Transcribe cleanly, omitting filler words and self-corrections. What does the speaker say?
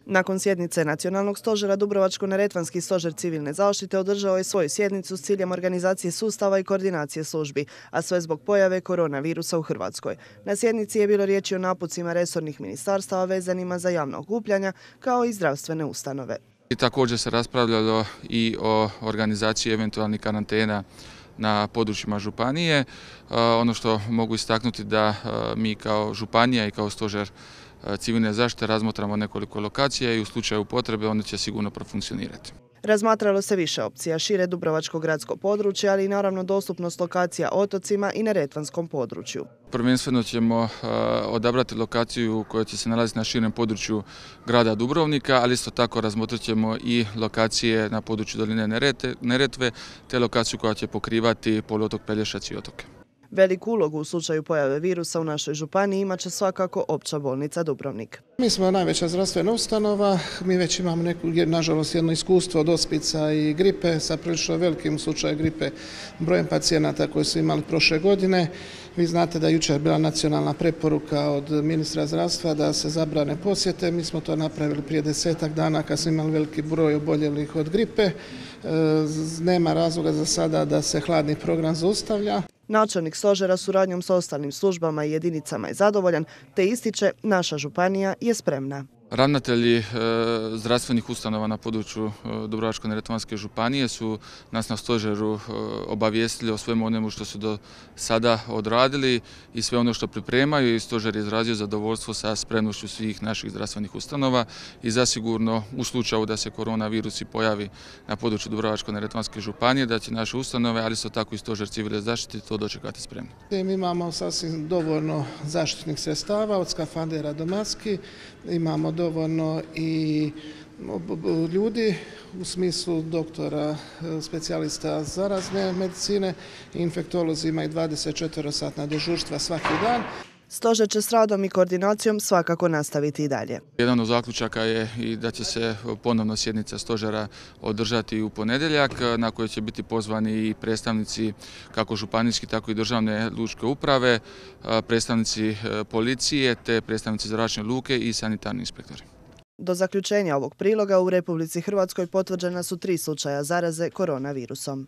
Nakon sjednice Nacionalnog stožera, Dubrovačko-neretvanski stožer civilne zaštite održao je svoju sjednicu s ciljem organizacije sustava i koordinacije službi, a sve zbog pojave koronavirusa u Hrvatskoj. Na sjednici je bilo riječi o napucima resornih ministarstava vezanima za javna okupljanja, kao i zdravstvene ustanove. Također se raspravljalo i o organizaciji eventualnih karantena na područjima županije. Ono što mogu istaknuti da mi kao županija i kao stožer civilne zaštite razmatramo nekoliko lokacija i u slučaju potrebe one će sigurno profunkcionirati. Razmatralo se više opcija, šire dubrovačko gradsko područje, ali i naravno dostupnost lokacija otocima i neretvanskom području. Prvenstveno ćemo odabrati lokaciju koja će se nalaziti na širem području grada Dubrovnika, ali isto tako razmotrit ćemo i lokacije na području doline Neretve, te lokaciju koja će pokrivati poluotok Pelješac i otoke. Veliku ulogu u slučaju pojave virusa u našoj županiji imat će svakako Opća bolnica Dubrovnik. Mi smo najveća zdravstvena ustanova, mi već imamo nažalost jedno iskustvo od ospica i gripe sa prilično velikim u slučaju gripe brojem pacijenata koji su imali prošle godine. Vi znate da je jučer bila nacionalna preporuka od ministra zdravstva da se zabrane posjete. Mi smo to napravili prije 10-ak dana kad smo imali veliki broj oboljelih od gripe. Nema razloga za sada da se hladni program zaustavlja. Načelnik stožera suradnjom s ostalim službama i jedinicama je zadovoljan, te ističe naša županija je spremna. Ravnatelji zdravstvenih ustanova na području Dubrovačko-neretvanske županije su nas na stožeru obavijestili o svemu onemu što su do sada odradili i sve ono što pripremaju i stožer je izrazio zadovoljstvo sa spremnošću svih naših zdravstvenih ustanova i zasigurno u slučaju da se koronavirus pojavi na području Dubrovačko-neretvanske županije da će naše ustanove, ali isto tako i stožer civilne zaštite to dočekati spremno. Mi imamo sasvim dovoljno zaštitnih sredstava od skafandera do maski, imamo dovoljno i ljudi u smislu doktora, specijalista zarazne medicine i infektolozi imaju 24-satna dežurstva svaki dan. Stožer će s radom i koordinacijom svakako nastaviti i dalje. Jedan od zaključaka je i da će se ponovno sjednica stožera održati u ponedjeljak, na kojoj će biti pozvani i predstavnici kako županijski, tako i državne lučke uprave, predstavnici policije te predstavnici zračne luke i sanitarni inspektori. Do zaključenja ovog priloga u Republici Hrvatskoj potvrđena su 3 slučaja zaraze koronavirusom.